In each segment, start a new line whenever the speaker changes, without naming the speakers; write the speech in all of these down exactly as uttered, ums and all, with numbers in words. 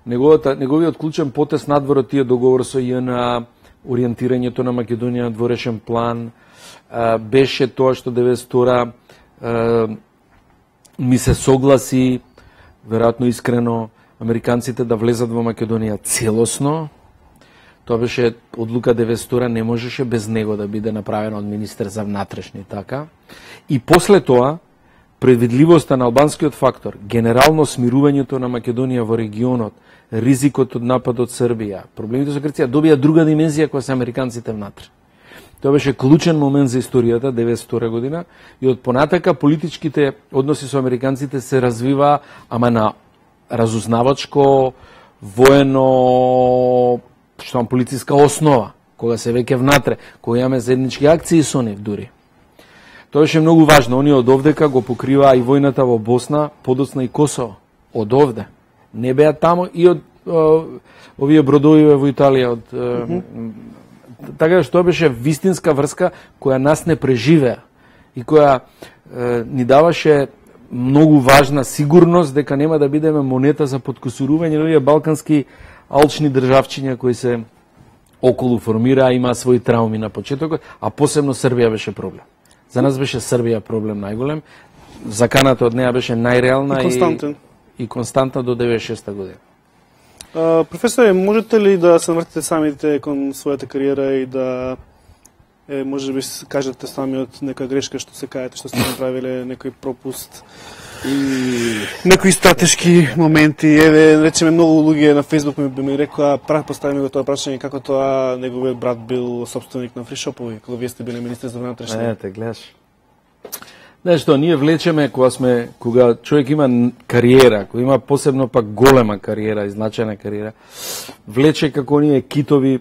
неговата неговиот клучен потез надвор од тие договор со ЈНА, ориентирањето на Македонија на дворешен план, а, беше тоа што деветдесет и втора ми се согласи, веројатно искрено, американците да влезат во Македонија целосно. Тоа беше одлука деветдесет и втора, не можеше без него да биде направено од министер за внатрешни, така. И после тоа, предвидливоста на албанскиот фактор, генерално смирувањето на Македонија во регионот, ризикот од напад од Србија, проблемите со Грција добија друга димензија која се американците внатре. Тоа беше клучен момент за историјата, деветдесет и втора година, и од понатака политичките односи со американците се развива, ама на разузнавачко, воено, што полициска основа, кога се веќе внатре, кога имаме заеднички акции со нив дури. Тоа беше многу важно. Оние од овдека го покриваа и војната во Босна, подоцна и Косово. Од овде. Не беа таму и од о, овие бродови во Италија. Од, mm -hmm. Така што тоа беше вистинска врска која нас не преживеа и која е, ни даваше многу важна сигурност дека нема да бидеме монета за подкусурување на овие балкански алчни државчиња кои се околу формираа, имаа своји трауми на почетокот, а посебно Србија беше проблем. За нас беше Србија проблем најголем. Заканата од неа беше најреална
и константен.
И, и константна до деветдесет и шеста година.
Uh, професоре, можете ли да се вртите самите кон својата кариера и да е, може би кажете самиот нека грешка што се каете, што сте направиле, некој пропуст и некои стратешки моменти? Еве, речеме, многу луѓе на Facebook ми би ми рекоа, прав поставиме го тоа прашање како тоа неговиот брат бил собственик на фришопови, кога вие сте биле министер за внатрешни.
Ете, гледаш. Знаеш што, ние влечеме кога сме, кога човек има кариера, кога има посебно пак голема кариера и значајна кариера, влече како оние китови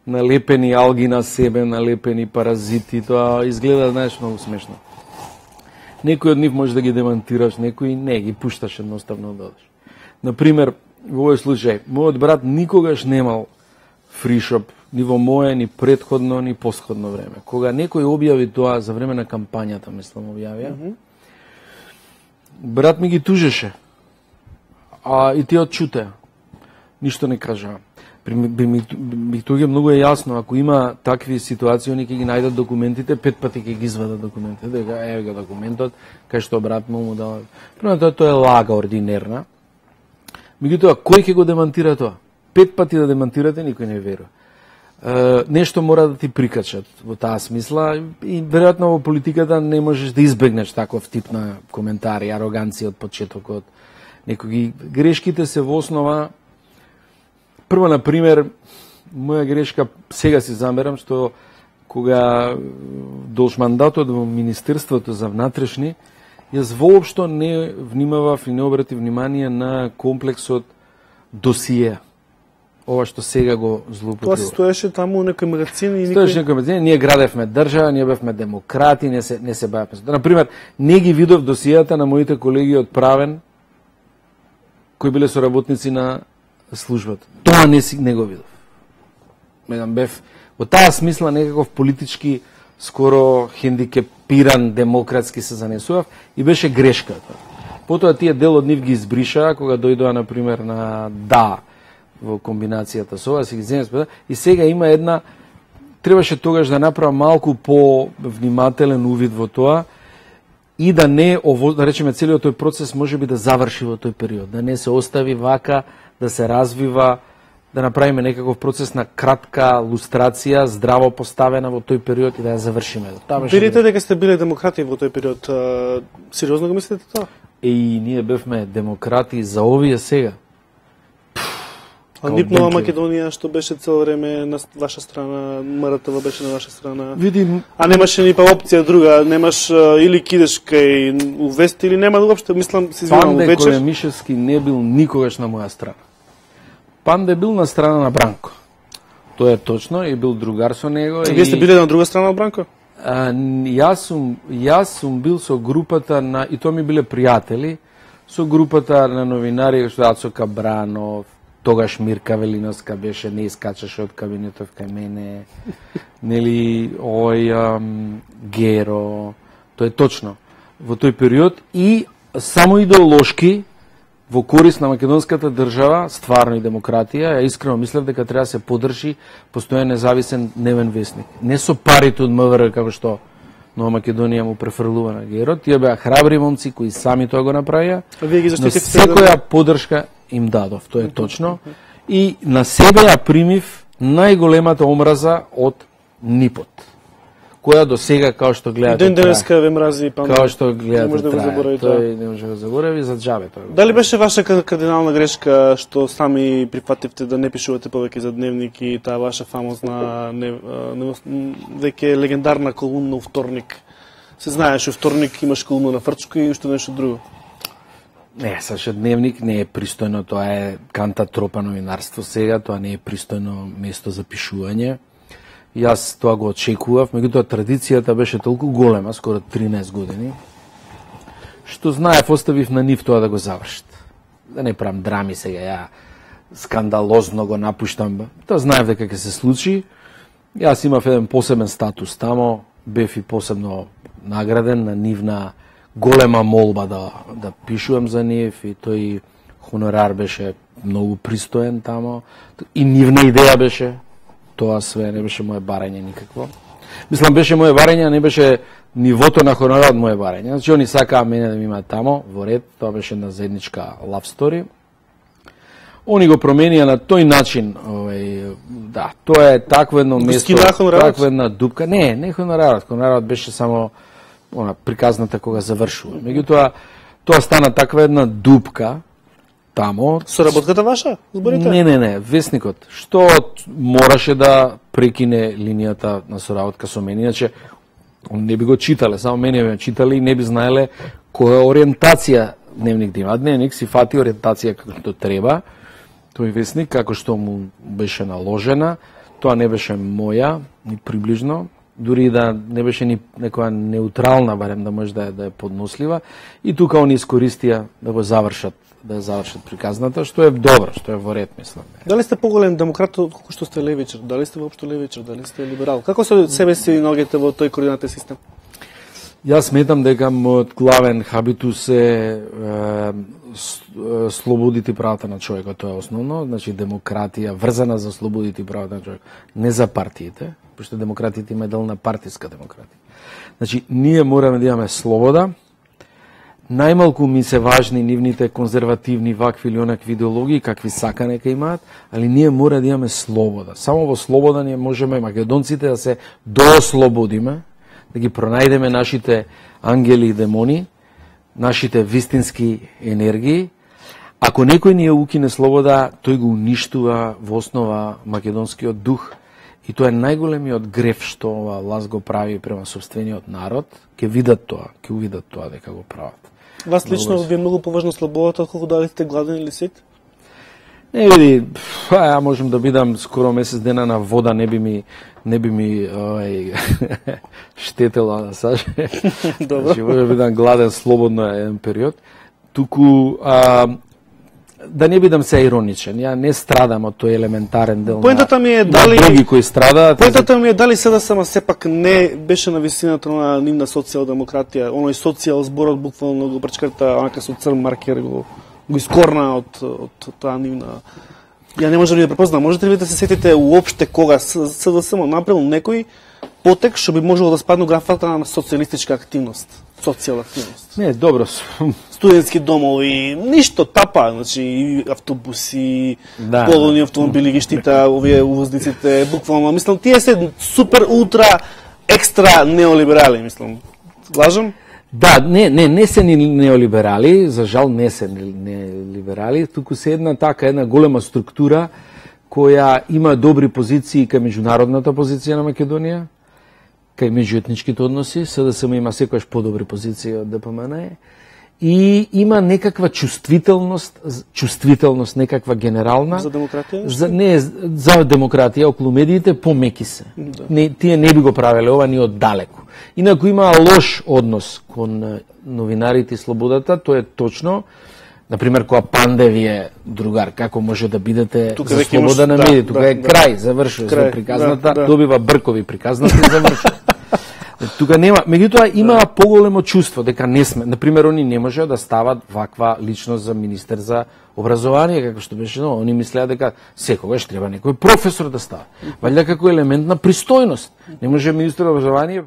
налепени алги на себе, налепени паразити, тоа изгледа, знаеш, многу смешно. Некој од нив може да ги демантираш, некој не, ги пушташ едноставно да одиш. Например, во овој случај, мојот брат никогаш немал фришоп, ни во моје, ни предходно, ни посходно време. Кога некој објави тоа за време на кампањата, мислам, објавија, mm -hmm. брат ми ги тужеше, а и тие одчутеа. Ништо не кажаа. Би ми тоа многу е јасно, ако има такви ситуации, они ќе ги најдат документите, пет пати ќе ги извадат документите, дека еве го документот, кај што брат му му дава. Прво тоа тоа е лага ординерна. Меѓутоа, кој ќе го демантира тоа? Пет пати да демантирате, никој не верува. Uh, нешто мора да ти прикачат во таа смисла и веројатно во политиката не можеш да избегнеш таков тип на коментари, ароганција од почетокот. Некои грешките се во основа. Прво, на пример, моја грешка, сега си замерам, што кога долж мандатот во Министерството за внатрешни, јас воопшто не внимавав и не обрати внимание на комплексот досие. Ова што сега го злоупотребува.
Тоа се стоеше таму некој магазин и никој...
Стоеше некој магазин, ние градевме држава, ние бевме демократи, не се, не се бавевме. Например, не ги видов досијата на моите колеги од Правен, кои биле соработници на службата. Тоа не, си, не го видов. Медам бев, во таа смисла некаков политички, скоро хендикепиран, демократски се занесував и беше грешка тоа. Потоа тие дел од нив ги избришаа, кога дојдоа, например, на да, во комбинацијата со ова, си ги земе, и сега има една, требаше тогаш да направа малку по-внимателен увид во тоа и да не, ово, да речеме, целиот тој процес може би да заврши во тој период, да не се остави вака, да се развива, да направиме некаков процес на кратка лустрација, здраво поставена во тој период и да ја завршиме.
Видите дека сте биле демократи во тој период, а, сериозно го мислите тоа?
И ние бевме демократи за овие сега.
А Нипнова Македонија, што беше цело време на ваша страна, МРТВ беше на ваша страна.
Видим,
а немаше ни па опција друга, немаш а, или кидеш кај Увест или нема уопште, мислам, се извинувам,
Панде
вечер.
Колемишевски не бил никогаш на моја страна. Панде бил на страна на Бранко. Тоа е точно, и бил другар со него.
Вие сте биле на друга страна од Бранко?
А, јас сум јас сум бил со групата на, и тоа ми биле пријатели, со групата на новинари што Ацо Кабранов, тогаш Мирка Велиновска беше, не искачаше од кабинетот кај мене, нели, ој ам, Геро, тоа е точно. Во тој период и само идеолошки во корист на македонската држава, стварно и демократија, ја искрено мислев дека треба да се поддржи постојан независен дневен весник. Не со парите од МВР како што Нова Македонија му префрлува на Геро, тие беа храбри момци кои сами тоа го направија.
Вие ги
заштитивте. Секоја поддршка им дадов, тоа е точно. И на себе ја примив најголемата омраза од НИП-от, која до сега, као што гледате,
ден денеска ве мрази, па
као што гледате,
не може да го заборави тоа.
Тој не може да го заборави за џабе тоа.
Дали беше ваша кардинална грешка што сами прифативте да не пишувате повеќе за дневник и таа ваша фамозна не, не, веќе легендарна колумна вторник? Се знаеш, вторник имаш колумна на фрчко и уште нешто друго.
Не, саша дневник не е пристојно, тоа е канта тропа новинарство сега, тоа не е пристојно место за пишување. Јас тоа го очекував, меѓутоа традицијата беше толку голема, скоро тринаесет години, што знаев, оставив на нив тоа да го завршат. Да не правам драми сега, ја скандалозно го напуштам. Тоа знаев дека ќе се случи. Јас имав еден посебен статус тамо, бев и посебно награден на нивна голема молба да, да пишувам за нив и тој хонорар беше многу пристоен тамо. И нивна идеја беше, тоа све не беше моje барање никакво. Мислам, беше моje барање, не беше нивото на хонорар од моje барање. Значи, они сакаа мене да ми имаат тамо, во ред, тоа беше една заедничка love story. Они го променија на тој начин, овај, да, тоа е такво едно место, таква една дупка. Не, не хонорарот, хонорарот беше само она приказната кога завршува. Меѓутоа, тоа стана таква една дупка тамо.
Соработката ваша? Зборите?
Не, не, не, весникот. Што мораше да прекине линијата на соработка со мене, иначе не би го читале, само мене би читале и не би знаеле која ориентација дневник да има. Дневник си фати ориентација како треба. Тој весник, како што му беше наложена, тоа не беше моја, ни приближно, дури да не беше ни некоја неутрална, барем да може да е, да е поднослива. И тука они искористија да го завршат, да ја завршат приказната, што е добро, што е во ред, мислам.
Дали сте поголем демократ колку што сте левичар? Дали сте воопшто левичар? Дали сте либерал? Како се себе си наоѓате во тој координатен систем?
Јас сметам дека мојот главен хабитус е, е слободите и правата на човекот, тоа е основно, значи демократија врзана за слободите и правата на човекот, не за партиите, пошто демократите има дел на партиска демократија. Значи, ние мораме да имаме слобода, најмалку ми се важни нивните конзервативни вакви или онакви идеологии, какви сака нека имаат, али ние мора да имаме слобода. Само во слобода ние можеме македонците да се доослободиме, да ги пронајдеме нашите ангели и демони, нашите вистински енергии. Ако некој ни ја укине слобода, тој го уништува во основа македонскиот дух и тоа е најголемиот греф што ова власт го прави према сопствениот народ. Ќе видат тоа, ќе увидат тоа дека го прават.
Вас лично ви е многу поважна слободата отколку дали сте гладен или сит?
Не види, ја можам да бидам скоро месец дена на вода, не би ми не би ми ој штетела на саже.
Добро.
Значи, може да бидам гладен слободно еден период. Туку а, да не бидам се ироничен, ја не страдам од тој елементарен дел.
Поентата ми е дали
други кои страдаат.
Поентата ми е дали СДСМ сепак не беше на висината на нивна социјалдемократија, оној социјал зборот буквално го пречкрта, онака со црн маркер го го искорна од од таа нивна. Ја не можам да ја препознам. Можете ли да се сетите уопште кога СДСМ направил некој потек што би можело да спадне графата на социјалистичка активност, социјална активност?
Не, добро.
Студентски домови, ништо тапа, значи и автобуси,
да,
полони автомобили ги штита овие увозниците, буквално, мислам, тие се супер ултра екстра неолиберали, мислам. Лажам?
Да, не, не, не се ни неолиберали, за жал не се неолиберали, туку се една така, една голема структура која има добри позиции кај меѓународната позиција на Македонија, кај меѓуетничките односи, СДСМ има секојаш подобри позиции од ДПМН, и има некаква чувствителност, чувствителност некаква генерална
за демократија?
За не за демократија околу медиите помеки се. Да. Не, тие не би го правеле ова ни од далеку. Инаку има лош однос кон новинарите и слободата, тоа е точно. Например, кога Панде ви е другар, како може да бидете тука за слобода на медиите, тука да, е да, крај, завршува крај, приказната, да, да. Добива бркови приказната и завршува. Тука нема, меѓутоа имаа поголемо чувство дека не сме. На пример, они не можеа да стават ваква личност за министер за образование, како што беше, но они мислеа дека секогаш треба некој професор да става. Валјда како елемент на пристојност. Не може министер за образование